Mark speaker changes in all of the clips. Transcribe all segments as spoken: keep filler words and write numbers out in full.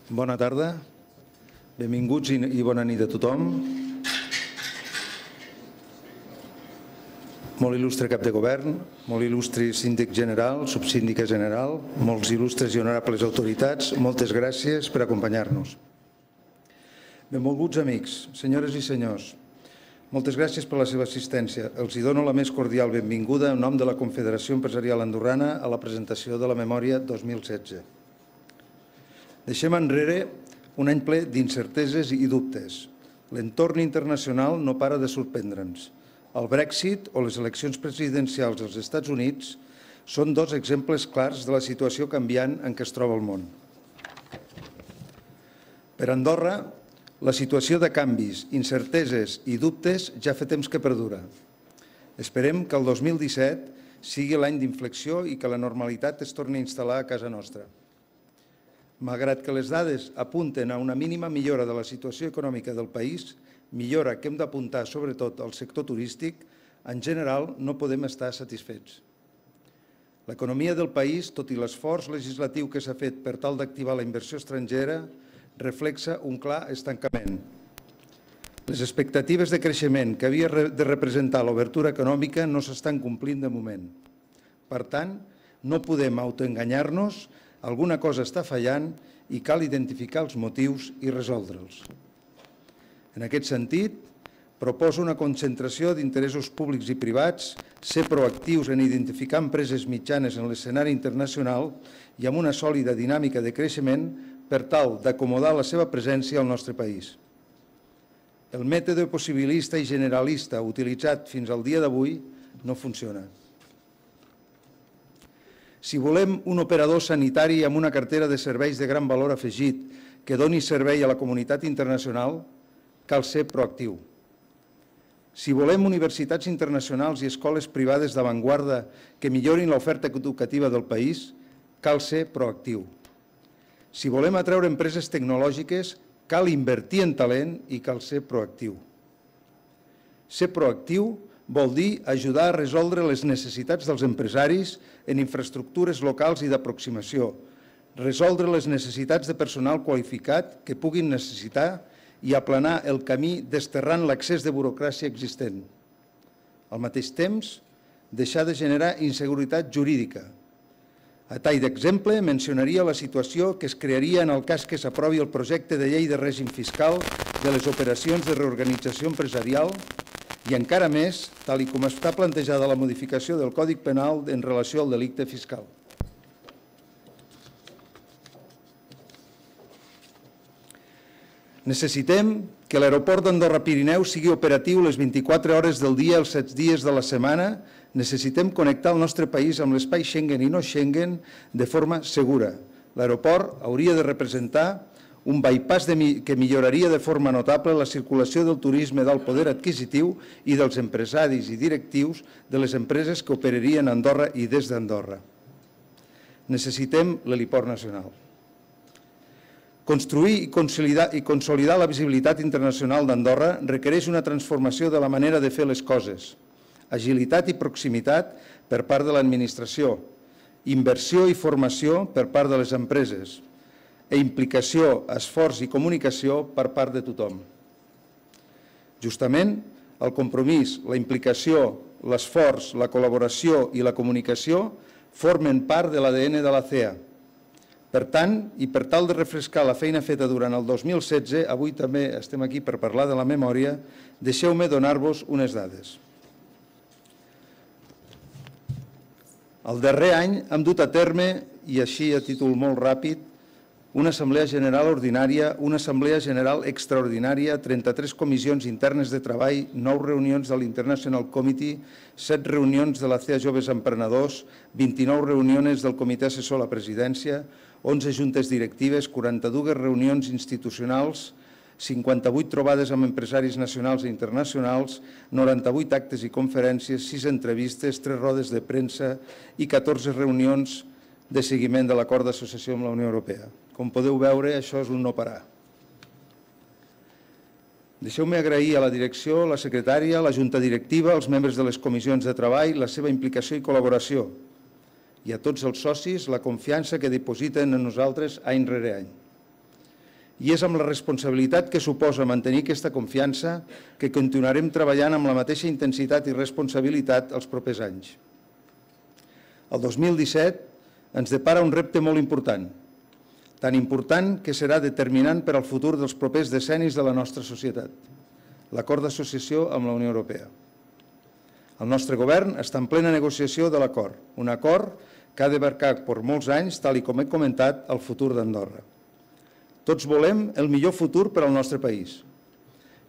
Speaker 1: Bona tarda, benvinguts i bona nit a tothom. Molt il·lustre cap de govern, molt il·lustre síndic general, subsíndica general, molts il·lustres i honorables autoritats, moltes gràcies per acompanyar-nos. Benvolguts amics, senyores i senyors, moltes gràcies per la seva assistència. Els hi dono la més cordial benvinguda en nom de la Confederació Empresarial Andorrana a la presentació de la memòria dos mil setze. Deixem enrere un any ple d'incerteses i dubtes. L'entorn internacional no para de sorprendre'ns. El Brexit o les eleccions presidencials als Estats Units són dos exemples clars de la situació canviant en què es troba el món. Per Andorra, la situació de canvis, incerteses i dubtes ja fa temps que perdura. Esperem que el dos mil disset sigui l'any d'inflexió i que la normalitat es torni a instal·lar a casa nostra. Malgrat que les dades apunten a una mínima millora de la situació econòmica del país, millora que hem d'apuntar sobretot al sector turístic, en general no podem estar satisfets. L'economia del país, tot i l'esforç legislatiu que s'ha fet per tal d'activar la inversió estrangera, reflexa un clar estancament. Les expectatives de creixement que havia de representar l'obertura econòmica no s'estan complint de moment. Per tant, no podem autoenganyar-nos, alguna cosa està fallant i cal identificar els motius i resoldre'ls. En aquest sentit, proposo una concentració d'interessos públics i privats, ser proactius en identificar empreses mitjanes en l'escenari internacional i amb una sòlida dinàmica de creixement per tal d'acomodar la seva presència al nostre país. El mètode possibilista i generalista utilitzat fins al dia d'avui no funciona. Si volem un operador sanitari amb una cartera de serveis de gran valor afegit que doni servei a la comunitat internacional, cal ser proactiu. Si volem universitats internacionals i escoles privades d'avantguarda que millorin l'oferta educativa del país, cal ser proactiu. Si volem atreure empreses tecnològiques, cal invertir en talent i cal ser proactiu. Ser proactiu vol dir ajudar a resoldre les necessitats dels empresaris en infraestructures locals i d'aproximació, resoldre les necessitats de personal qualificat que puguin necessitar i aplanar el camí desterrant l'excés de burocràcia existent. Al mateix temps, deixar de generar inseguretat jurídica. A tall d'exemple, mencionaria la situació que es crearia en el cas que s'aprovi el projecte de llei de règim fiscal de les operacions de reorganització empresarial i encara més, tal com està plantejada la modificació del Codi Penal en relació al delicte fiscal. Necessitem que l'aeroport d'Andorra-Pirineu sigui operatiu les vint-i-quatre hores del dia, els set dies de la setmana. Necessitem connectar el nostre país amb l'espai Schengen i no Schengen de forma segura. L'aeroport hauria de representar un bypass que milloraria de forma notable la circulació del turisme d'alt poder adquisitiu i dels empresaris i directius de les empreses que operarien a Andorra i des d'Andorra. Necessitem l'heliport nacional. Construir i consolidar la visibilitat internacional d'Andorra requereix una transformació de la manera de fer les coses, agilitat i proximitat per part de l'administració, inversió i formació per part de les empreses i implicació, esforç i comunicació per part de tothom. Justament, el compromís, la implicació, l'esforç, la col·laboració i la comunicació formen part de l'A D N de la C E A. Per tant, i per tal de refrescar la feina feta durant el dos mil setze, avui també estem aquí per parlar de la memòria, deixeu-me donar-vos unes dades. El darrer any hem dut a terme, i així a títol molt ràpid, una assemblea general ordinària, una assemblea general extraordinària, trenta-tres comissions internes de treball, nou reunions de l'International Committee, set reunions de la C E A Joves Emprenedors, vint-i-nou reunions del Comitè Assessor a la Presidència, onze juntes directives, quaranta-dues reunions institucionals, cinquanta-vuit trobades amb empresaris nacionals i internacionals, noranta-vuit actes i conferències, sis entrevistes, tres rodes de premsa i catorze reunions de seguiment de l'acord d'associació amb la Unió Europea. Com podeu veure, això és un no parar. Deixeu-me agrair a la direcció, a la secretària, a la junta directiva, als membres de les comissions de treball, la seva implicació i col·laboració i a tots els socis la confiança que dipositen en nosaltres any rere any. I és amb la responsabilitat que suposa mantenir aquesta confiança que continuarem treballant amb la mateixa intensitat i responsabilitat els propers anys. El dos mil disset ens depara un repte molt important, tan important que serà determinant per al futur dels propers decennis de la nostra societat, l'acord d'associació amb la Unió Europea. El nostre govern està en plena negociació de l'acord, un acord que ha d'abarcar per molts anys, tal com he comentat, el futur d'Andorra. Tots volem el millor futur per al nostre país.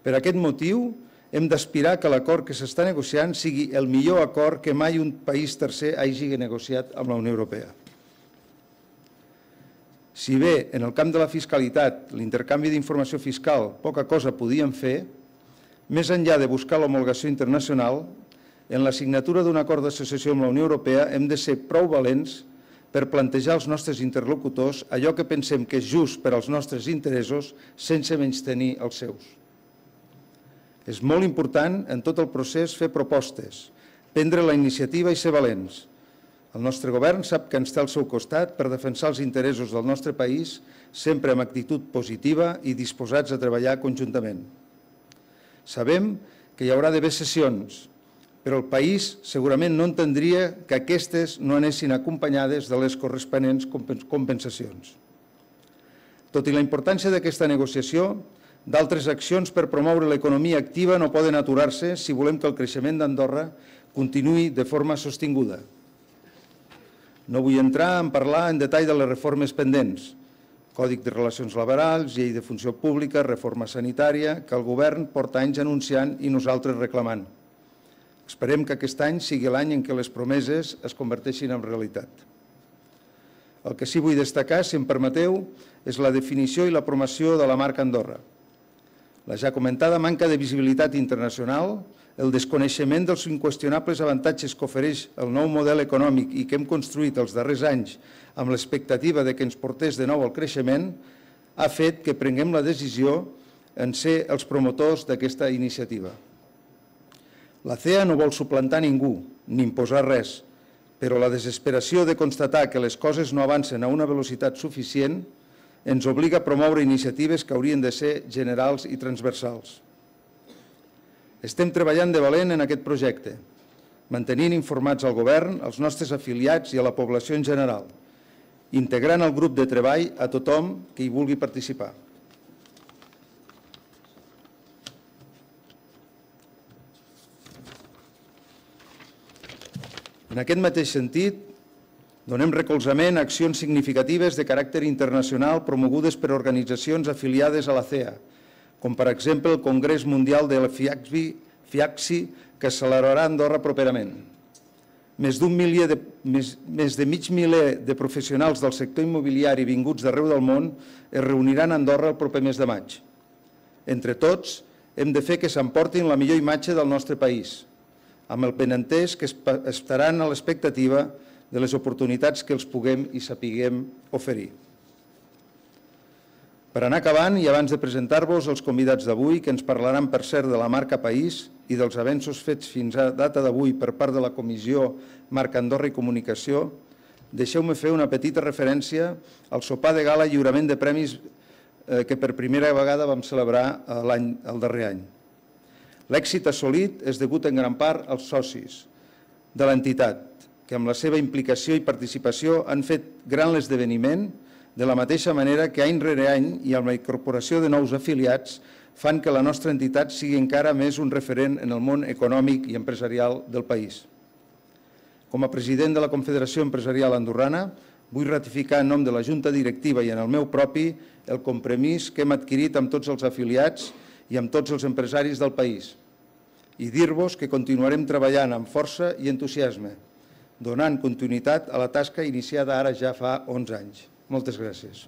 Speaker 1: Per aquest motiu, hem d'aspirar que l'acord que s'està negociant sigui el millor acord que mai un país tercer hagi negociat amb la Unió Europea. Si bé en el camp de la fiscalitat, l'intercanvi d'informació fiscal, poca cosa podíem fer, més enllà de buscar l'homologació internacional, en la signatura d'un acord d'associació amb la Unió Europea hem de ser prou valents per plantejar als nostres interlocutors allò que pensem que és just per als nostres interessos sense menystenir els seus. És molt important en tot el procés fer propostes, prendre la iniciativa i ser valents. El nostre govern sap que ens té al seu costat per defensar els interessos del nostre país sempre amb actitud positiva i disposats a treballar conjuntament. Sabem que hi haurà d'haver sessions, però el país segurament no entendria que aquestes no anessin acompanyades de les corresponents compensacions. Tot i la importància d'aquesta negociació, d'altres accions per promoure l'economia activa no poden aturar-se si volem que el creixement d'Andorra continuï de forma sostinguda. No vull entrar en parlar en detall de les reformes pendents, Còdic de Relacions Laborals, Llei de Funció Pública, reforma sanitària, que el govern porta anys anunciant i nosaltres reclamant. Esperem que aquest any sigui l'any en què les promeses es converteixin en realitat. El que sí vull destacar, si em permeteu, és la definició i la promoció de la marca Andorra. La ja comentada manca de visibilitat internacional, el desconeixement dels inqüestionables avantatges que ofereix el nou model econòmic i que hem construït els darrers anys amb l'expectativa que ens portés de nou al creixement, ha fet que prenguem la decisió en ser els promotors d'aquesta iniciativa. La C E A no vol suplantar ningú, ni imposar res, però la desesperació de constatar que les coses no avancen a una velocitat suficient ens obliga a promoure iniciatives que haurien de ser generals i transversals. Estem treballant de valent en aquest projecte, mantenint informats al govern, als nostres afiliats i a la població en general, integrant el grup de treball a tothom que hi vulgui participar. En aquest mateix sentit, donem recolzament a accions significatives de caràcter internacional promogudes per organitzacions afiliades a la C E A, com per exemple el Congrés Mundial de la FIACSI, que es celebrarà a Andorra properament. Més d'un milió de, més, més de mig miler de professionals del sector immobiliari vinguts d'arreu del món es reuniran a Andorra el proper mes de maig. Entre tots, hem de fer que s'emportin la millor imatge del nostre país, amb el benentès que estaran a l'expectativa de les oportunitats que els puguem i sapiguem oferir. Per anar acabant i abans de presentar-vos els convidats d'avui, que ens parlaran per cert de la marca País i dels avenços fets fins a data d'avui per part de la Comissió Marca Andorra i Comunicació, deixeu-me fer una petita referència al sopar de gala i lliurament de premis que per primera vegada vam celebrar el darrer any. L'èxit assolit és degut en gran part als socis de l'entitat, que amb la seva implicació i participació han fet gran l'esdeveniment, de la mateixa manera que any rere any i amb la incorporació de nous afiliats fan que la nostra entitat sigui encara més un referent en el món econòmic i empresarial del país. Com a president de la Confederació Empresarial Andorrana, vull ratificar en nom de la Junta Directiva i en el meu propi el compromís que hem adquirit amb tots els afiliats i amb tots els empresaris del país, i dir-vos que continuarem treballant amb força i entusiasme, donant continuïtat a la tasca iniciada ara ja fa onze anys. Moltes gràcies.